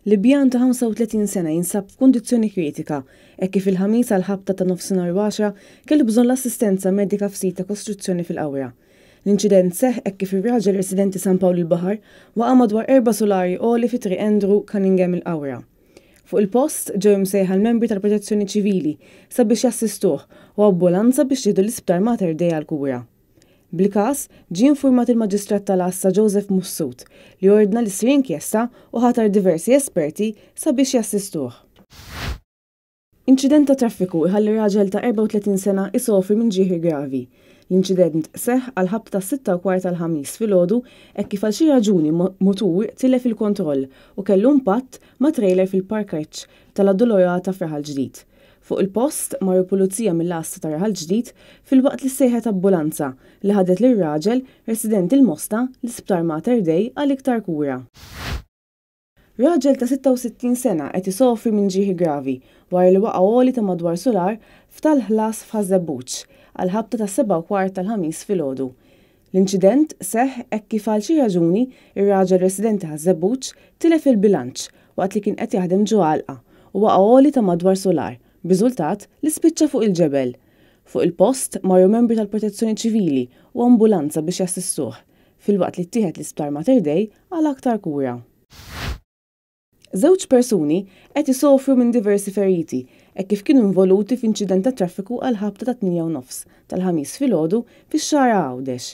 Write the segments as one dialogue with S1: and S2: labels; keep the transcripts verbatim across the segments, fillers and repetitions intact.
S1: Libjan ta' ħamsa u tletin sena jinsab f'kundizzjoni kritika hekk kif il-Ħamis għal ħabta ta' nofsinhar u għaxra kellu bżonn l-assistenza medika f'sit ta' kostruzzjoni fil-Qawra. L-inċident seħħ hekk kif ir-raġel residenti San Pawl il-Baħar waqa' madwar erba' sulari għoli fi Triq Andrew Cunningham il-Qawra. Fuq il-post ġew imsejħa l-membri tal-Protezzjoni Ċivili sabiex jassistuh u ambulanza biex jieħdu l-Isptar Mater Dei għall-kura. Bil-każ ġie infurmat il-Maġistrat tal-Għassa Joseph Mifsud li ordna li ssir inkjesta u ħatar diversi esperti sabiex jassistuh. Inċident ta' traffiku iħalli raġel ta' erbgħa u tletin sena isofri minn ġrieħi gravi. L-inċident seħħ għal ħabta tas sitta u kwart tal-Ħamis filgħodu hekk kif għal xi raġuni mutur tilef il-kontroll u kellu impatt ma' trailer fil-parkeġġ tal-Addolorata f'Raħal Ġdid. Fuq il-post marru pulizija mill-għassa ta' Raħal Ġdid filwaqt li sejħet ambulanza li ħadet lir-raġel residenti l-Mosta l-Isptar Mater Dei għal iktar kura. Raġel ta' sitta u sittin sena qed isofri minn ġrieħi gravi wara li waqa' għoli ta' madwar sular f'tal-ħlas f'Ħaż-Żebbuġ għal ħabta ta' sebgħa u kwart tal-Ħamis filgħodu. L-inċident seħħ hekk kif għal xi raġuni ir-raġel residenti Ħaż-Żebbuġ tilef il-bilanċ waqt li kien qed jaħdem ġo għalqa u waqa' għoli ta' madwar sular, b'riżultat li spiċċa fuq il-ġebel. Fuq il-post marru membri tal-Protezzjoni Ċivili u ambulanza biex jassistuh, filwaqt li ttieħed l-Isptar Mater Dei għal aktar kura. Żewġ persuni qed isofru minn diversi feriti hekk kif kienu involuti f'inċident ta' traffiku għal ħabta ta' tmienja u nofs tal-Ħamis filgħodu fix-Xagħra Għawdex.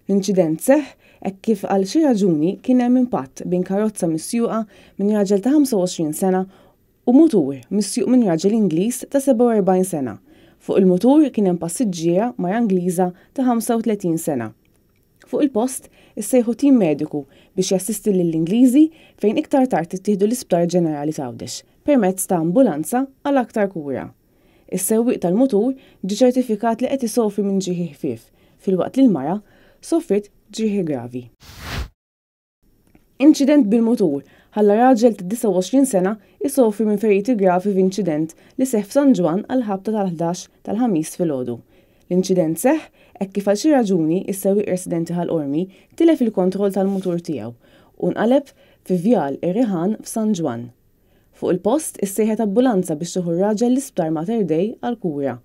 S1: L-inċident seħħ hekk kif għal xi raġuni kien hemm impatt bejn karozza misjuqa minn raġel ta' ħamsa u għoxrin sena u mutur misjuq minn raġel Ingliż ta' sebgħa u erbgħin sena. Fuq il-mutur kien hemm passiġġiera mara Ingliża ta' ħamsa u tletin sena. Fuq il-post issejħu tim mediku biex jassisti lill-Ingliżi fejn iktar tard ittieħdu l-Isptar Ġenerali t'Għawdex permezz ta' ambulanza għal aktar kura. Is-sewwieq tal-mutur ġie ċertifikat li qed isofri minn ġrieħi ħfief filwaqt li l-mara sofriet ġrieħi gravi. Inċident bil-mutur ħalla raġel ta' disgħa u għoxrin sena isofri minn feriti gravi f'inċident li seħħ f'San Ġwann għal ħabta tal-ħdax tal-Ħamis filgħodu. L-inċident seħħ hekk kif għal xi raġuni is-sewwieq residenti Ħal Qormi tilef il-kontroll tal-mutur tiegħu u nqaleb fi Vjal ir-Riħan f'San Ġwann. Fuq il-post issejħet ambulanza biex tieħu r-raġel l-Isptar Mater Dei għal kura.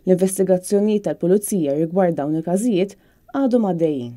S1: L-investigazzjonijiet tal-Pulizija rigward dawn il-każijiet għadhom għaddejjin.